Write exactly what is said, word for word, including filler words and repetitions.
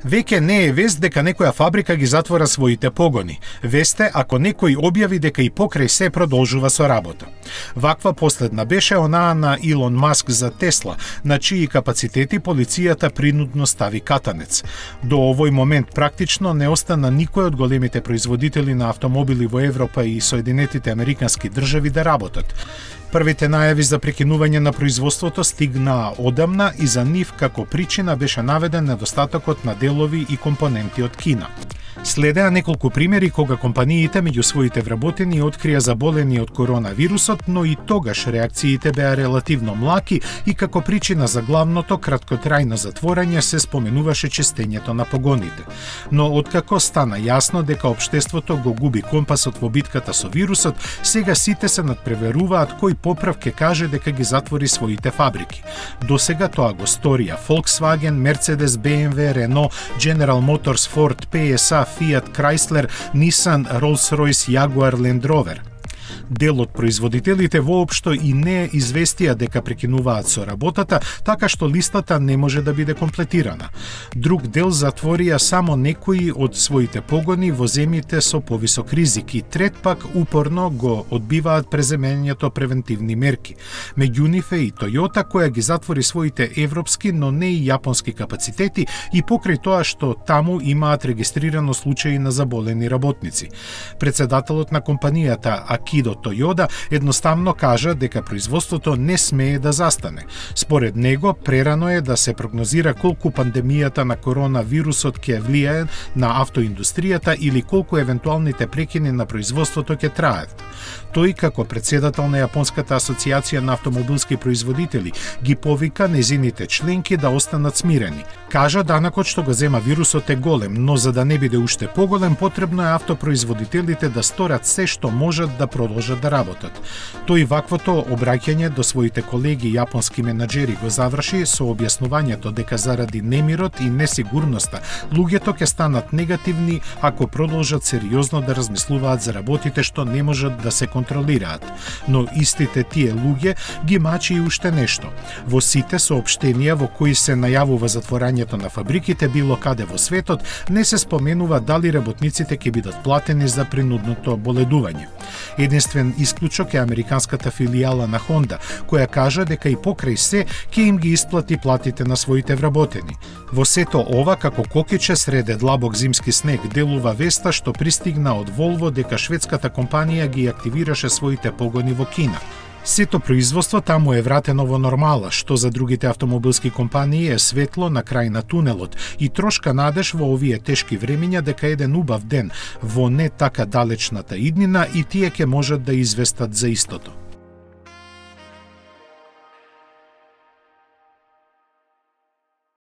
Веќе не е вест дека некоја фабрика ги затвора своите погони. Вест е ако некој објави дека и покрај се продолжува со работа. Ваква последна беше онаа на Илон Маск за Тесла, на чии капацитети полицијата принудно стави катанец. До овој момент практично не остана никој од големите производители на автомобили во Европа и Соединетите Американски држави да работат. Првите најави за прекинување на производството стигнаа одамна и за нив како причина беше наведен недостатокот на делови и компоненти од Кина. Следеа неколку примери кога компаниите меѓу своите вработени открија заболени од коронавирусот, но и тогаш реакциите беа релативно млаки и како причина за главното краткотрајно затворање се споменуваше честењето на погоните. Но откако стана јасно дека општеството го губи компасот во битката со вирусот, сега сите се надпреверуваат кој поправ ќе каже дека ги затвори своите фабрики. Досега тоа го сторија Volkswagen, Mercedes, B M W, Renault, General Motors, Ford, P S A, Fiat, Chrysler, Nissan, Rolls-Royce, Jaguar, Land Rover. Дел од производителите воопшто и не известија дека прекинуваат со работата, така што листата не може да биде комплетирана. Друг дел затворија само некои од своите погони во земјите со повисок ризик и трет пак упорно го одбиваат преземењето превентивни мерки. Меѓу нив е и Toyota, која ги затвори своите европски, но не и јапонски капацитети и покрај тоа што таму имаат регистрирано случаи на заболени работници. Председателот на компанијата Акидо Toyoda едноставно кажа дека производството не смее да застане. Според него, прерано е да се прогнозира колку пандемијата на коронавирусот ќе влијае на автоиндустријата или колку евентуалните прекини на производството ќе траат. Тој, како председател на Јапонската асоциација на автомобилски производители, ги повика незините членки да останат смирени. Кажа данакот што го зема вирусот е голем, но за да не биде уште поголем, потребно е автопроизводителите да сторат се што можат да продолжат да работат. Тој ваквото обраќање до своите колеги јапонски менаџери го заврши со објаснувањето дека заради немирот и несигурноста луѓето ќе станат негативни ако продолжат сериозно да размислуваат за работите што не можат да се контролираат. Но истите тие луѓе ги мачи и уште нешто. Во сите соопштенија во кои се најавува затворањето на фабриките било каде во светот, не се споменува дали работниците ќе бидат платени за принудното боледување. Единствен исклучок е американската филијала на Honda, која кажа дека и покрај се ќе им ги исплати платите на своите вработени. Во сето ова, како кокиче среде длабок зимски снег, делува веста што пристигна од Volvo дека шведската компанија ги активираше своите погони во Кина. Сето производство таму е вратено во нормала, што за другите автомобилски компании е светло на крај на тунелот и трошка надеж во овие тешки времиња дека еден убав ден во не така далечната иднина и тие ќе можат да известат за истото.